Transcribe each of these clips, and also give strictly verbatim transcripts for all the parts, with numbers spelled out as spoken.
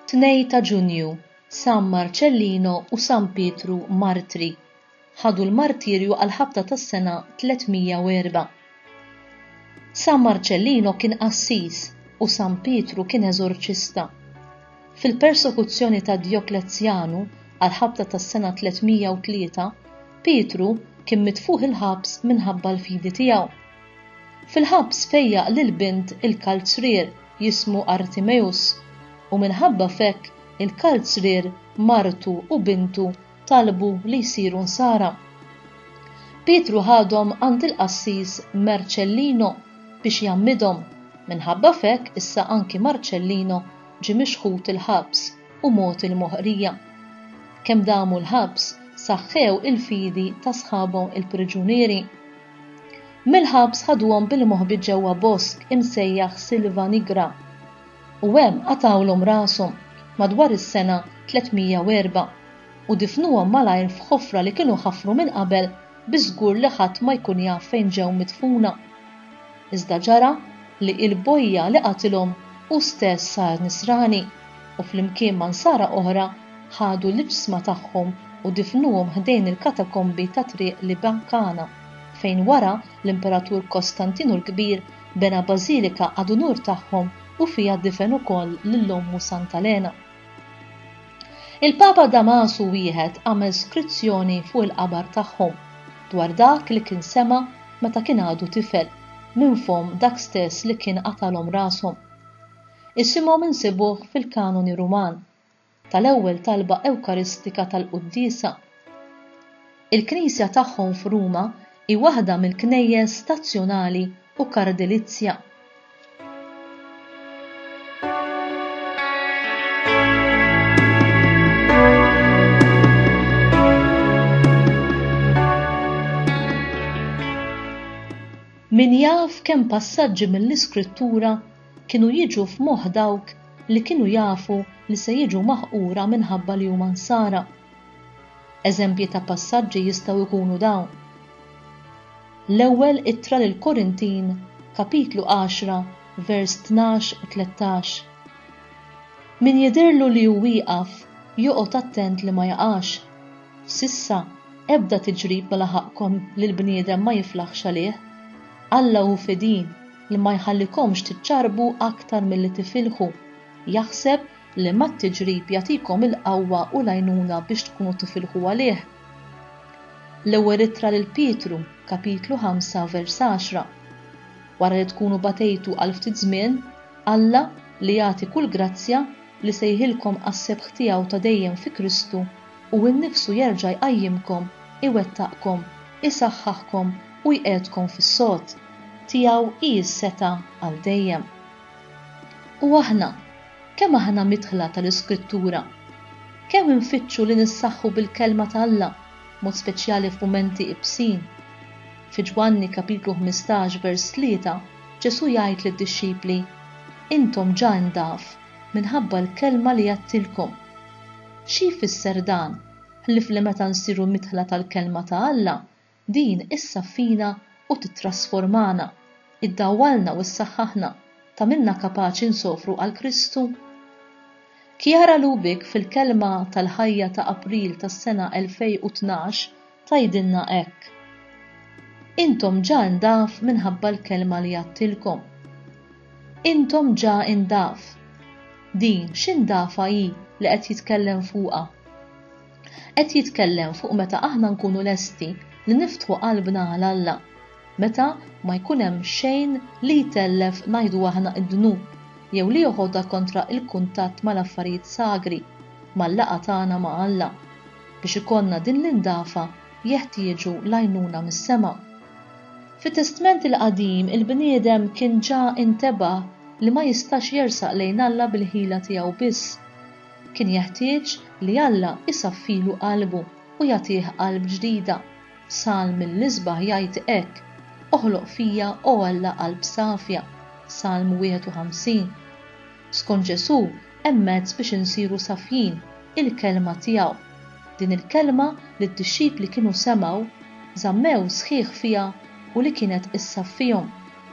Tnejn ta' Ġunju, San Marcellino u San Pietru Martri ħadu l-martirju għall-ħabta tas-sena tliet mija u erbgħa. San Marcellino kien qassis u San Pietru kien eżorċista. Fil-persekuzzjoni ta' Djoklezjanu għall-ħabta tas-sena tliet mija u tlieta, Pietru kien mitfuħ il-ħabs minħabba l-fidi tiegħu. Fil-ħabs fejjaq lil bint il-kalzrier jismu Artimeus u minħabba fekk il-kalzrier martu u bintu talbu li jsiru nsara. Pietru ħadhom għand il-qassis Marcellino biex jgħammidhom. Minħabba fekk issa anki Marcellino ġie mixħut il-ħabs u mot il-moħqrija. Kemm damu l-ħabs saħħew il-fidi ta' sħabhom il-priġunieri. Mill-ħabs ħaduhom bil-moħbi ġewwa bosk imsejjaħ Silva Nigra u hemm qatawlhom rashom madwar is-sena tliet mija u erbgħa u difnuhom malajr f'ħofra li kienu ħafru minn qabel biżgur li ħadd ma jkun jaf fejn ġew midfuna. Iżda ġara li il-bojja li qatilhom hu stess sar nisrani u flimkien ma' nsara oħra ħadu l-iġsma tagħhom u difnuhom ħdejn il-katakombi ta' triq Libankana, fejn wara l-Imperatur Kostantinu l-Kbir bena bażilika ad unur tagħhom u fiha difen ukoll lil ommu Santa Lena. Il-Papa Damasu wieħed għamel skrizzjoni fuq il-qabar tagħhom dwar dak li kien sema meta kien għadu tifel minn fom dak stess li kien qatalhom rashom. Isimhom insibuh fil-kanoni Ruman tal-ewwel talba Ewkaristika tal-Quddiesa. Il-knisja tagħhom f'Ruma hi waħda mill-knejjes stazzjonali u kardilizja. Min jaf kemm passaġġi mill-Iskrittura kienu jiġu f'moħħ dawk li kienu jafu li se jiġu maħqura minħabba li huma nsara. Eżempji ta' passaġġi jistgħu jkunu dawn. L-ewwel ittra lil Korintin, kapitlu għaxra, vers tnax u tlettax. Min jidhirlu li hu wieqaf, joqgħod attent li ma jaqax. Sissa, ebda tiġrib ma laħaqkom li l-bniedem ma jiflaħx għalih. Alla hu fidil li ma jħallikomx tiċċarbu aktar milli tifilħu. Jaħseb li mat-tiġrib jagħtikom il-qawwa u l-għajnuna biex tkunu tifilħu għalih. L-ewwel ittra lil Pietru, kapitlu ħamsa, vers għaxra. Wara li tkunu batejtu għal ftit żmien, Alla li jagħti kull grazzja li sejħilkom għas-sebħ tiegħu ta' dejjem fi Kristu u nnifsu jerġa' jqajjimkom, iwettaqkom, isaħħaħkom u jqiegħdkom fis-sod. Tiegħu hi s-seta' għal dejjem. U aħna, kemm aħna midħla tal-Iskrittura? Kemm infittxu li nissaħħu bil-kelma ta' Alla, mod speċjali f'mumenti ibsin? Fi Ġwanni kapitlu ħmistax vers tlieta, Ġesu jgħid lid-dixxipli, Intom ġa ndaf minħabba l-kelma li għedtilkom. Xi jfisser dan? Ħlief li meta nsiru midħla tal-kelma ta' Alla, din issaffina u titrasformana, iddawwalna u ssaħħaħna, tagħmilna kapaċi nsofru għal Kristu. Chiara Lubich fil-kelma tal-ħajja ta' April tas-sena elfej u tnax tgħidilna hekk. Intom ġa ndaf minħabba l-kelma li għedtilkom. Intom ġa ndaf. Din x'indafa hi li qed jitkellem fuqha? Qed jitkellem fuq meta aħna nkunu lesti li niftħu qalbna għal Alla, meta ma jkun hemm xejn li jtellef ngħidu aħna id-dnub jew li joħodha kontra il-kuntatt mal-affarijiet sagri, mal-laqgħa tagħna ma' Alla. Biex ikollna din l-indafa jeħtieġu l-għajnuna mis-sema. Fit-Testment il-Qadim il-bniedem kien ġa intebaħ li ma jistax jersaq lejn Alla bil-ħila tiegħu biss. Kien jeħtieġ li Alla isaffilu qalbu u jagħtih qalb ġdida. Salm mill-isbaħ jgħid hekk: Oħloq fija, o Alla, qalb safja. Salm wieħed u ħamsin. Skont Ġesu hemm mezz biex insiru safjin, il-kelma tiegħu. Din il-kelma li d-dixxipli kienu semgħu, żammew sħiħ fiha u li kienet issaffihom.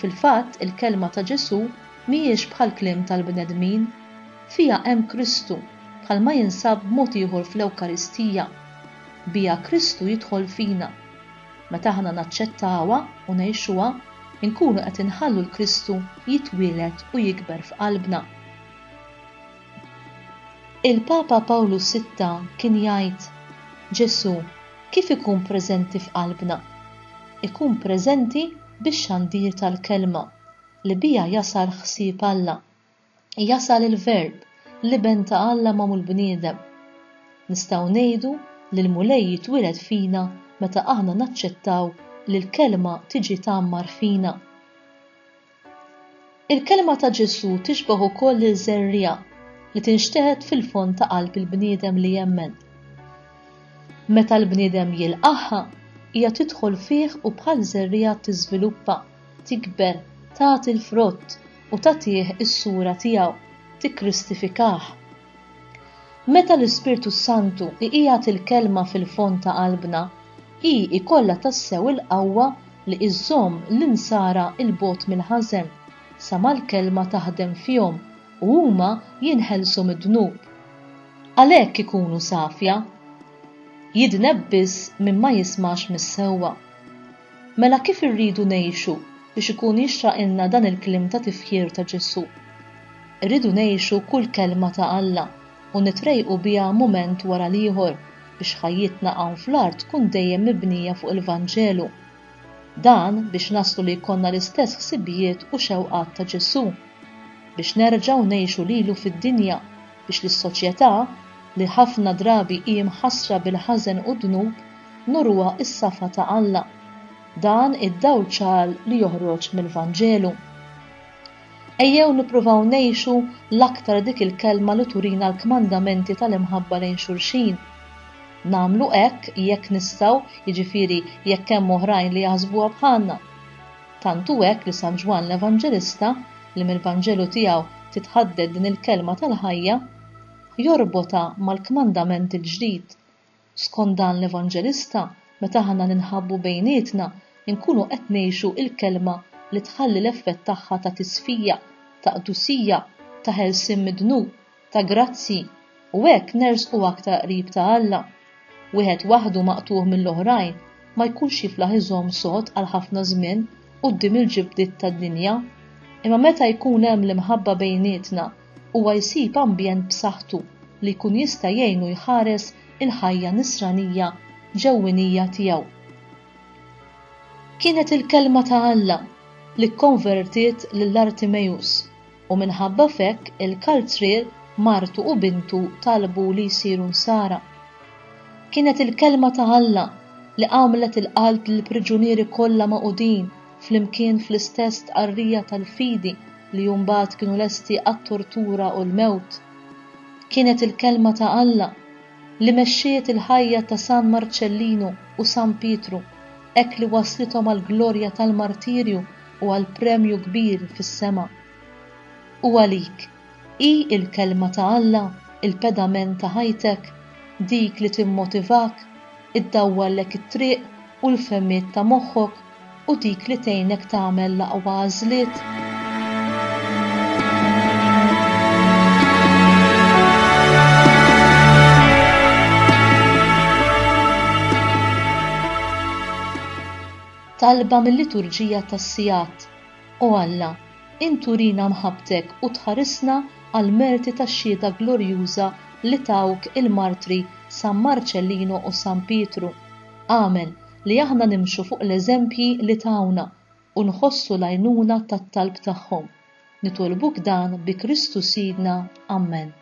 Fil-fatt, il-kelma ta' Ġesu mhijiex bħal kliem tal-bnedmin. Fiha hemm Kristu, bħalma jinsab b'mod ieħor fl-Ewkaristija. Biha Kristu jidħol fina. Meta aħna naċċettawha u ngħixuha, inkunu qed inħallu 'l Kristu jitwieled u jikber f'qalbna. Il-Papa Pawlu Sitta kien jgħid, Ġesù kif ikun preżenti f'qalbna? Ikun preżenti bix-xandir tal-kelma li biha jasal ħsieb Alla. Jasal il-Verb, l-Iben ta' Alla magħmul bniedem. Nistgħu ngħidu li l-Mulej jitwieled fina meta aħna naċċettaw li l-kelma tiġi tgħammar fina. Il-kelma ta' Ġesù tixbaħ ukoll lil żerriegħa li tinxteħet fil-fond ta' qalb il-bniedem li jemmen. Meta l-bniedem jilqagħha, hija tidħol fih u bħal żerriegħa tiżviluppa, tikber, tagħti l-frott u tagħtih is-sura tiegħu, tikkristifikah. Meta l-Ispirtu s-Santu iqiegħed il-kelma fil-fond ta' qalbna, hi jkollha tassew il-qawwa li iżżomm l-insara 'l bogħod mill-ħażen, sa ma l-kelma taħdem fihom u huma jinħelsu mid-dnub. Għalhekk ikunu safja. Jidneb biss min ma jismax mis-sewwa. Mela kif irridu ngħixu biex ikun jixraqilna dan il-kliem ta' tifħir ta' Ġesù? Irridu ngħixu kull kelma ta' Alla u nitrejqu biha mument wara l-ieħor biex ħajjitna hawn fl-art tkun dejjem mibnija fuq il-Vanġelu. Dan biex naslu li jkollna l-istess ħsibijiet u xewqat ta' Ġesù, biex nerġgħu ngħixu lilu fid-dinja, biex lis-soċjetà, li ħafna drabi hi mħassra bil-ħażen u d-dnub, nuruha s-safa ta' Alla. Dan id-dawl ċar li joħroġ mill-Vanġelu. Ejjew nippruvaw ngħixu l-aktar dik il-kelma li turina l-kmandamenti tal-imħabba lejn xulxin. Nagħmlu hekk jekk nistgħu, jiġifieri jekk hemm oħrajn li jaħsbuha bħalna. Tant hu hekk li San Ġwann l-Evanġelista, li mill-Vanġelu tiegħu titħadded din il-kelma tal-ħajja, jorbotha mal-kmandament il-ġdid. Skont dan l-Evanġelista, meta aħna ninħabbu bejnietna, inkunu qed ngħixu il-kelma li tħalli l-effett tagħha ta' tisfija, ta' qdusija, ta' ħelsien mid-dnub, ta' grazzi, u hekk nersqu aktar qrib ta' Alla. Wieħed waħdu maqtugħ mill-oħrajn ma jkunx jiflaħ iżomm sod għal ħafna żmien quddiem il-ġibdiet tad-dinja. Imma meta jkun hemm l-imħabba bejnietna, huwa jsib ambjent b'saħħtu li jkun jista' jgħinu jħares il-ħajja nisranija ġewwinija tiegħu. Kienet il-kelma ta' Alla li kkonvertiet lil Artimejus u minħabba f'hekk il-kalzrier, martu u bintu talbu li jsiru nsara. Kienet il-kelma ta' Alla li għamlet il-qalb lill-priġunieri kollha magħqudin flimkien fl-istess tqarrija tal-fidi li mbagħad kienu lesti għat-tortura u l-mewt. Kienet il-kelma ta' Alla li mexxiet il-ħajja ta' San Marcellino u San Pietru, hekk li waslithom għall-glorja tal-martirju u għall-premju kbir fis-sema. U għalik, hi l-kelma ta' Alla il-pedament ta' ħajtek, dik li timmotivak, iddawwallek it-triq u l-fehmiet ta' moħħok u dik li tgħinek tagħmel l-aqwa għażliet? Talba mill-liturġija tas-sigħat. O Alla, int turina mħabbtek u tħarisna għall-merti tax-xhieda glorjuża li tawk il-martri San Marcellino u San Pietru. Agħmel li aħna nimxu fuq l-eżempji li tawna u nħossu l-għajnuna tat-talb tagħhom. Nitolbuk dan bi Kristu Sidna. Amen.